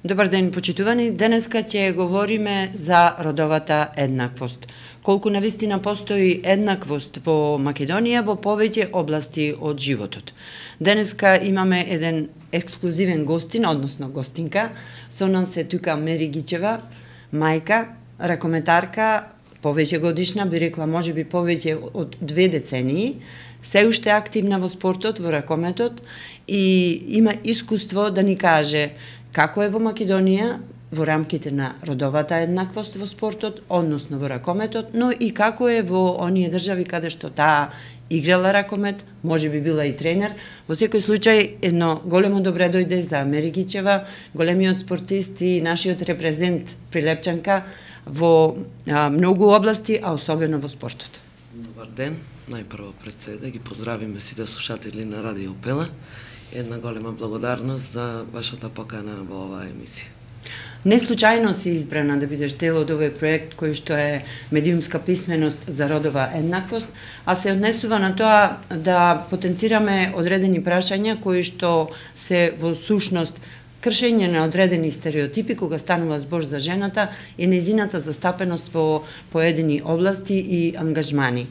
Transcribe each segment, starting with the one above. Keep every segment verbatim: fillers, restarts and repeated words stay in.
Добар ден, почитувани. Денеска ќе говориме за родовата еднаквост. Колку навистина постои еднаквост во Македонија во повеќе области од животот. Денеска имаме еден ексклузивен гостин, односно гостинка. Со нас е тука Мери Гичева, мајка, ракометарка, повеќе годишна, би рекла можеби повеќе од две децении, се уште активна во спортот, во ракометот и има искуство да ни каже како е во Македонија во рамките на родовата еднаквост во спортот, односно во ракометот, но и како е во оние држави каде што таа играла ракомет, може би била и тренер. Во секој случај, едно големо добре дојде за Мери Гичева, големиот спортист и нашиот репрезент Прилепчанка во а, многу области, а особено во спортот. Добар ден, најпрво пред се да ги поздравиме сите слушатели на Радио Пела. Една голема благодарност за вашата покана во оваа емисија. Не случајно си избрана да бидеш дел од овој проект кој што е медиумска писменост за родова еднаквост, а се однесува на тоа да потенцираме одредени прашања кои што се во сушност кршење на одредени стереотипи кога станува збор за жената и нејзината застапеност во поедини области и ангажмани.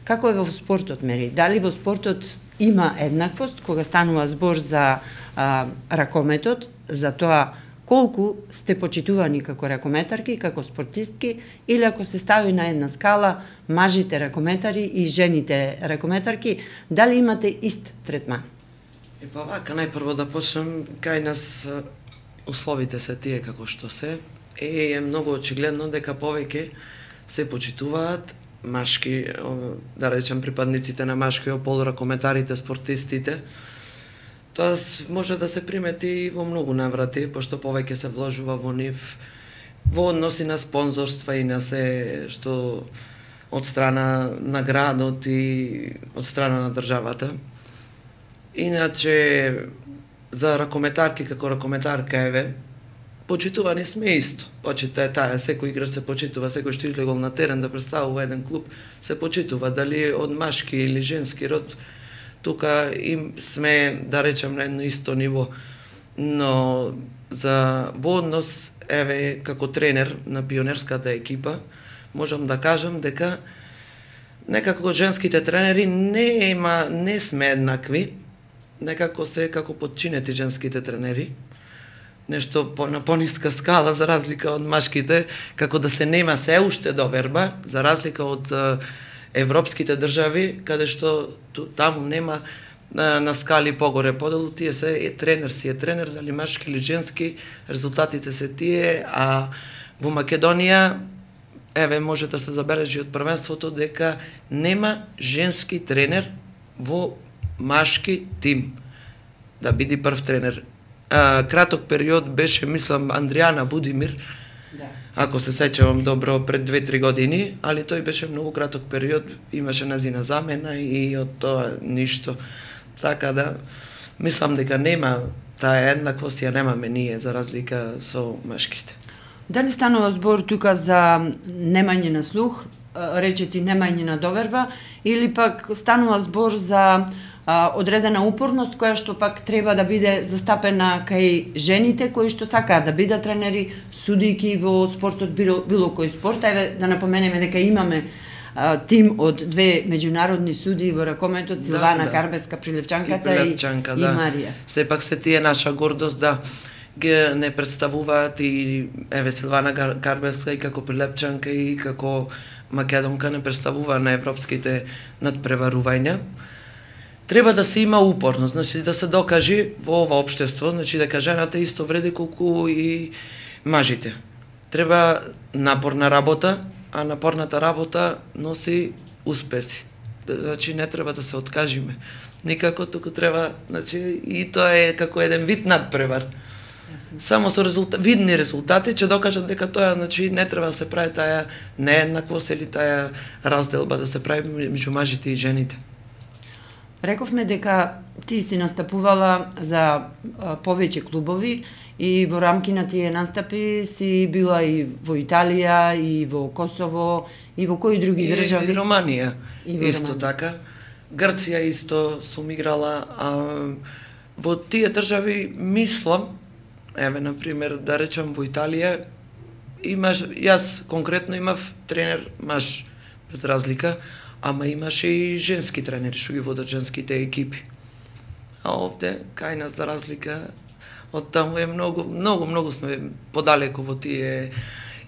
Како е во спортот, Мери? Дали во спортот има еднаквост кога станува збор за а, ракометот, за тоа колку сте почитувани како ракометарки, како спортистки, или ако се стави на една скала мажите ракометари и жените ракометарки, дали имате ист третман? И па вака, најпрво да почнем, кај нас условите се тие како што се, е, е многу очигледно дека повеќе се почитуваат машки, да речем припадниците на машкиот пол, ракометарите, спортистите. Тоа може да се примети во многу наврати, пошто повеќе се вложува во нив, во односи на спонзорства и на се што од страна на градот и од страна на државата. Иначе, за ракометарки како ракометарка, еве, почитувани сме исто. Почита е таа, секој играч се почитува, секој што излегол на терен да представува еден клуб, се почитува, дали од машки или женски род, тука им сме, да речем, на едно исто ниво. Но за во однос, еве, како тренер на пионерската екипа, можам да кажам дека некако женските тренери не има, не сме еднакви, некако се како подчинети женските тренери, нешто по, на пониска скала за разлика од машките, како да се нема се уште доверба, за разлика од е, европските држави, каде што ту, таму нема на, на скали погоре подолу, тие се е тренер си е тренер, дали машки или женски, резултатите се тие, а во Македонија, еве, може да се забележи од првенството дека нема женски тренер во машки тим да биде прв тренер. А, краток период беше, мислам, Андријана Будимир, Да. ако се сеќавам добро, пред две-три години, али тој беше многу краток период, имаше назина замена и од тоа ништо. Така да, мислам дека нема таа еднаквост, ја немаме ние, за разлика со машките. Дали станува збор тука за немање на слух, речети немање на доверба, или пак станува збор за а, одредена упорност која што пак треба да биде застапена кај жените кои што сакаат да бидат тренери, судики во спортот, било, било кој спорт. Еве да напоменеме дека имаме а, тим од две меѓународни судии во ракометот, Силвана да, да. Карбеска, Прилепчанката и, Прилепчанка, и, да. и Марија. Сепак се тие наша гордост да ги не представуваат и еве Силвана Карбеска и како Прилепчанка и како македонка не представува на европските надпреварувања. Треба да се има упорност, значи да се докажи во ова општество, значи дека жената исто вреди колку и мажите. Треба напорна работа, а напорната работа носи успеси. Значи не треба да се откажиме. Никако, туку треба, значи и тоа е како еден вид надпревар. Само со резултат, видни резултати ќе докажат дека тоа, значи не треба да се прави таа нееднаквост или таа разделба да се прави меѓу мажите и жените. Рековме дека ти си настапувала за а, повеќе клубови и во рамки на тие настапи си била и во Италија, и во Косово, и во кои други држави? И Романија, и во исто Романија. така. Грција исто сум играла, а во тие држави мислам Еве, на пример, да речам во Италија, имаш, јас конкретно имав тренер маж, без разлика, ама имаше и женски тренери што ги водат женските екипи. А овде, кај нас, за разлика од таму, е многу, многу, многу сме подалеку во тие,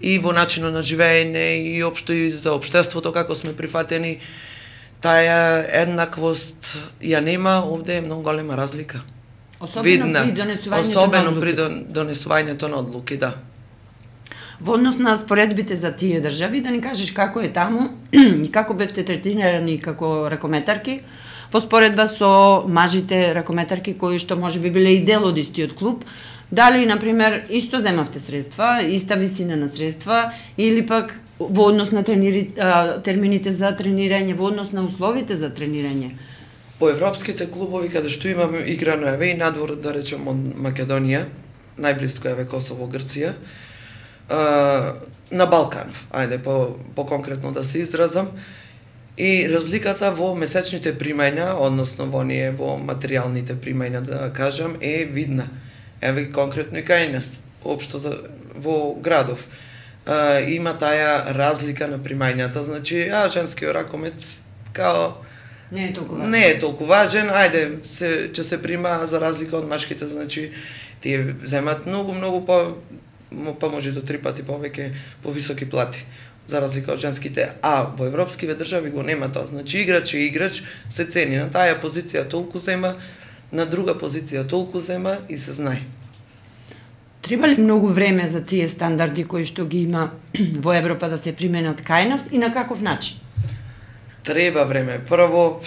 и во начинот на живеење, и општо и за општеството, како сме прифатени, таа еднаквост ја нема, овде е многу голема разлика. Особено Видна, при донесувањето особено на при одлуки. донесувањето на одлуки, да. Во однос на споредбите за тие држави, да ни кажеш како е таму и како бевте третирани како ракометарки, во споредба со мажите ракометарки кои што може би биле и дел од истиот клуб, дали, например, исто земавте средства, иста висина на средства, или пак во однос на тренери, а, термините за тренирање, во однос на условите за тренирање? По европските клубови, каде што имаме играно, еве, и надвор, да речем, од Македонија, најблиско, еве, Косово, Грција, а, на Балканов, ајде, по, по конкретно да се изразам, и разликата во месечните примања, односно во ние, во материјалните примања, да кажам, е видна. Еве, конкретно и кај нас, општо за, во градов, а, има таа разлика на примањата, значи, а, женскиот ракомет, као, Не е толку важен. не е толку важен, ајде, се, ќе се прима за разлика од машките, значи, тие земат многу, многу по, па може до три пати повеќе, повисоки плати, за разлика од женските. А во европскиве држави го нема тоа, значи играч е играч, се цени, на таа позиција толку зема, на друга позиција толку зема и се знае. Треба ли многу време за тие стандарди кои што ги има во Европа да се применат кај нас и на каков начин? Треба време. Прво,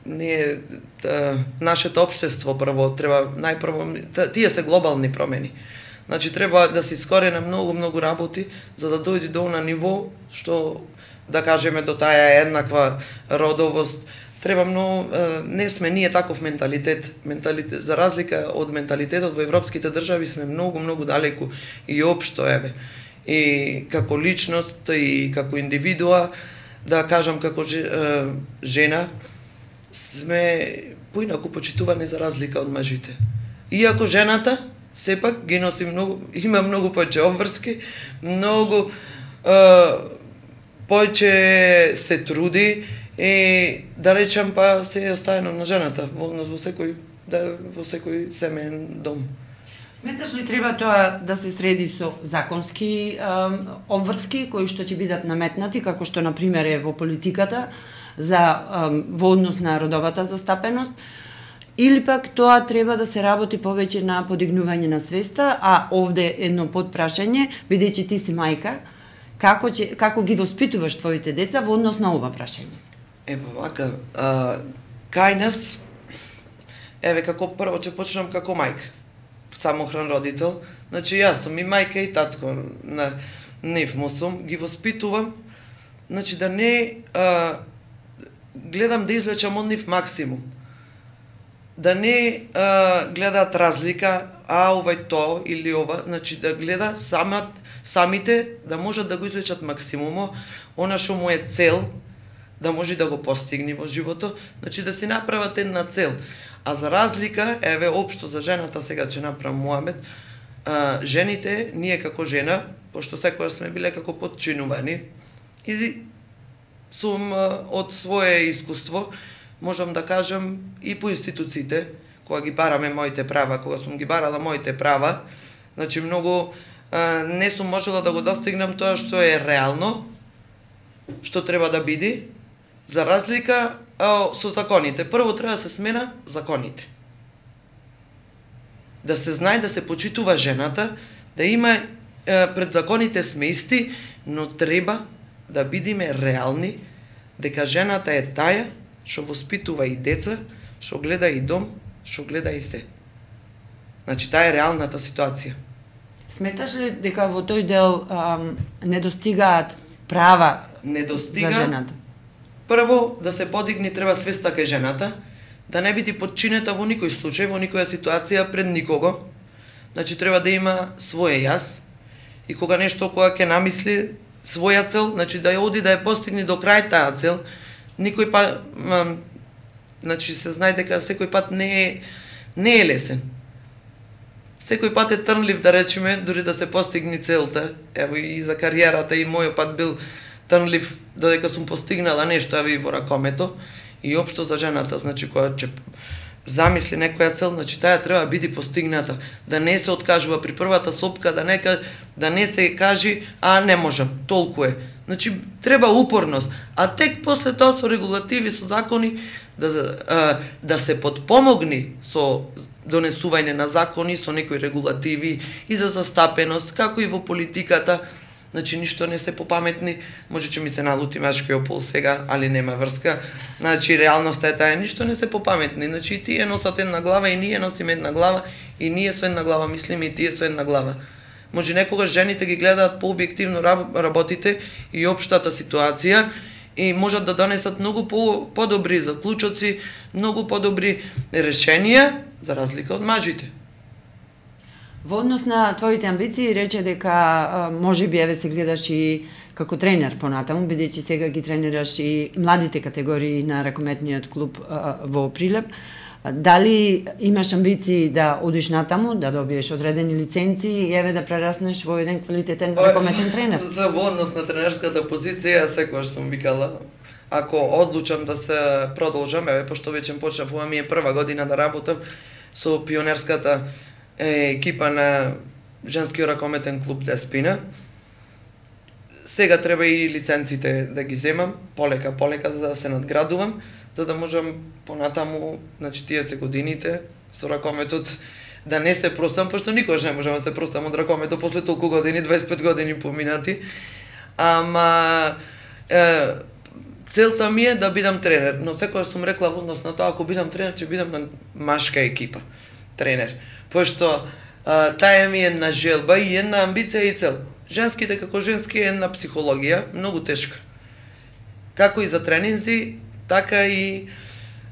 ние, та, нашето општество прво, треба, најпрво, та, тие се глобални промени. Значи, треба да се искорена многу, многу работи, за да дојде до она ниво, што, да кажеме, до таа еднаква родовост. Треба многу, не сме ние таков менталитет. Менталитет, за разлика од менталитетот во европските држави, сме многу, многу далеку и општо, еве. И како личност, и како индивидуа, да кажам како жена, сме поинаку почитувани за разлика од мажите. Иако жената, сепак, ги носи многу, има многу повеќе обврски, многу е, повеќе се труди и, да речам, па се е оставено на жената во однос во секој, да, во секој семеен дом. Сметаш ли треба тоа да се среди со законски а, обврски кои што ќе бидат наметнати, како што на пример е во политиката за а, во однос на родовата застапеност, или пак тоа треба да се работи повеќе на подигнување на свеста, а овде едно подпрашање, бидејќи ти си мајка, како ќе како ги воспитуваш твоите деца во однос на ова прашање? Ева вака, а, кај нас, еве како прво ќе почнам како мајка, самохран родител, значи јас сум и мајка и татко на нив му сум, ги воспитувам, значи да не а, гледам да извлечам од нив максимум. Да не а, гледаат разлика, а овај то или ова, значи да гледа самат, самите да можат да го извлечат максимумо, она што му е цел, да може да го постигне во живото, значи да си направат една цел. А за разлика, еве, општо за жената, сега ќе направам муабет, а, жените, ние како жена, пошто секојаш сме биле како подчинувани, и сум а, од свое искуство, можам да кажам и по институциите, кога ги бараме моите права, кога сум ги барала моите права, значи многу а, не сум можела да го достигнам тоа што е реално, што треба да биде, за разлика а, со законите. Прво треба да се смена законите. Да се знае, да се почитува жената, да има а, пред законите сме исти, но треба да бидиме реални, дека жената е таа што воспитува и деца, што гледа и дом, што гледа и се. Значи, таа е реалната ситуација. Сметаш ли дека во тој дел ам, не достигаат права Не достига. за жената? Прво, да се подигне треба свеста кај жената, да не биде подчинета во никој случај, во никоја ситуација пред никого. Значи, треба да има своје јас, и кога нешто, кога ќе намисли своја цел, значи да ја оди да ја постигне до крај таа цел, никој па, м, значи се знае дека секој пат не е, не е лесен. секој пат е трнлив, да речеме, дури да се постигне целта. Ево и за кариерата и мојот пат бил трнлив додека сум постигнала нешто, ево и во ракомето, и општо за жената, значи која ќе замисли некоја цел, значи таа треба биде постигната, да не се откажува при првата сопка, да не да не се кажи а не можам, толку е. Значи треба упорност, а тек после тоа со регулативи, со закони да а, да се подпомогни со донесување на закони, со некои регулативи и за застапеност, како и во политиката. Значи, ништо не се попаметни, може че ми се налути машкиот пол сега, али нема врска. Значи, реалноста е таа, ништо не се попаметни. Значи, и тие носат една глава, и ние носиме една глава, и ние со една глава мислиме, и тие со една глава. Може некогаш жените ги гледаат по-објективно работите и општата ситуација, и можат да донесат многу по подобри заклучоци, многу подобри решенија, за разлика од мажите. Во однос на твоите амбиции, рече дека може би еве се гледаш и како тренер понатаму, бидејќи сега ги тренираш и младите категории на ракометниот клуб а, во Прилеп. Дали имаш амбиции да одиш натаму, да добиеш одредени лиценци и еве да прераснеш во еден квалитетен ракометен тренер? За во однос на тренерската позиција, секогаш сум викала, ако одлучам да се продолжам, еве пошто веќе почнав, ова ми е прва година да работам со пионерската екипа на женскиот ракометен клуб Деспина. Сега треба и лиценците да ги земам, полека, полека, за да се надградувам, за да можам понатаму, значи тие се годините со ракометот, да не се простам, пошто никогаш не можам да се простам од ракометот после толку години, дваесет и пет години поминати. Ама е, целта ми е да бидам тренер, но секогаш сум рекла во однос на тоа, ако бидам тренер, ќе бидам на машка екипа, тренер. Пошто а, таа ми е една желба и една амбиција и цел. Женските како женски е една психологија, многу тешка. Како и за тренинзи, така и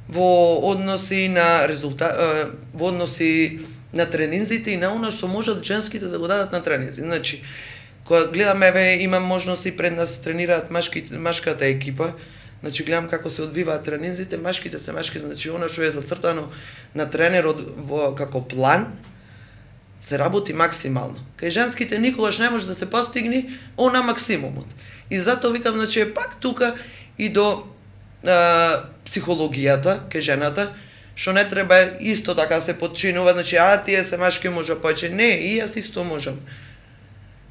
во односи на резултат, во односи на тренинзите и на она што можат женските да го дадат на тренинзи. Значи, кога гледам, еве, имам можност и пред нас тренираат машки, машката екипа, значи гледам како се одвиваат тренинзите, машките се машки, значи она што е зацртано на тренерот во како план, се работи максимално. Кај женските никогаш не може да се постигне она максимумот. И затоа викам, значи е пак тука и до а, психологијата кај жената, што не треба исто така се подчинува, значи а тие се машки може повеќе. Не, и јас исто можам.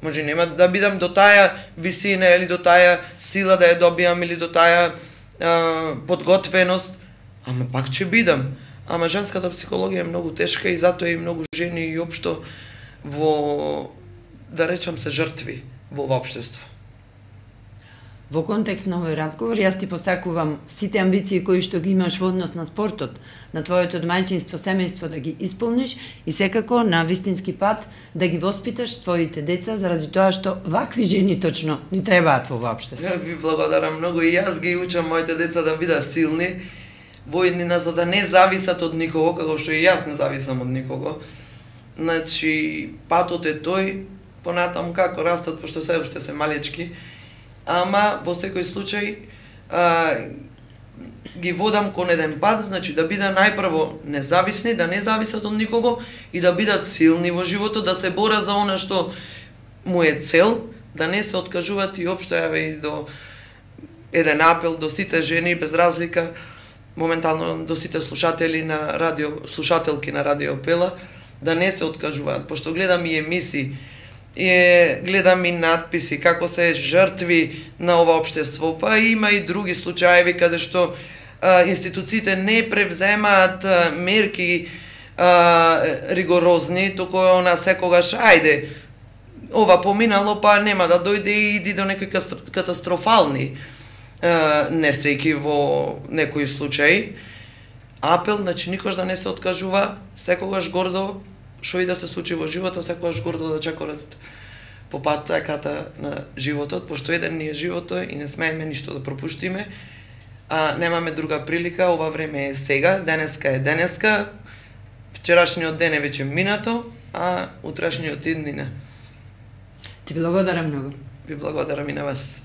Може нема да бидам до таа висина или до таа сила да ја добијам или до таа а, подготвеност, ама пак ќе бидам. Ама женската психологија е многу тешка и затоа и многу жени и општо во, да речам, се жртви во ова општество. Во контекст на овој разговор, јас ти посакувам сите амбиции кои што ги имаш во однос на спортот, на твоето мајчинство, семејство да ги исполниш и секако на вистински пат да ги воспиташ твоите деца, заради тоа што вакви жени точно ни требаат во општество. Ја ви благодарам многу и јас ги учам моите деца да бидат силни, војнина, за да не зависат од никого, како што и јас не зависам од никого. Значи, патот е тој, понатаму како растат, пошто се уште се малечки, ама во секој случај а, ги водам кон еден пат, значи да бидат најпрво независни, да не зависат од никого и да бидат силни во животот, да се бора за она што му е цел, да не се откажуваат и општо јаве и до еден апел до сите жени без разлика, моментално до сите слушатели на радио, слушателки на Радио Пела, да не се откажуваат, пошто гледам и емисии, и гледам и надписи како се жртви на ова општество, па има и други случаеви каде што а, институциите не превземаат а, мерки а, ригорозни, туку она секогаш ајде ова поминало, па нема да дојде и иди до некои катастрофални а, несреќи во некои случаи. Апел, значи никош да не се откажува, секогаш гордо што и да се случи во животот, секогаш гордо да чекорат по патеката на животот, пошто еден ни е животот и не смееме ништо да пропуштиме, а немаме друга прилика, ова време е сега, денеска е денеска, вчерашниот ден е веќе минато, а утрашниот иднина. Ти благодарам многу. Ви благодарам и на вас.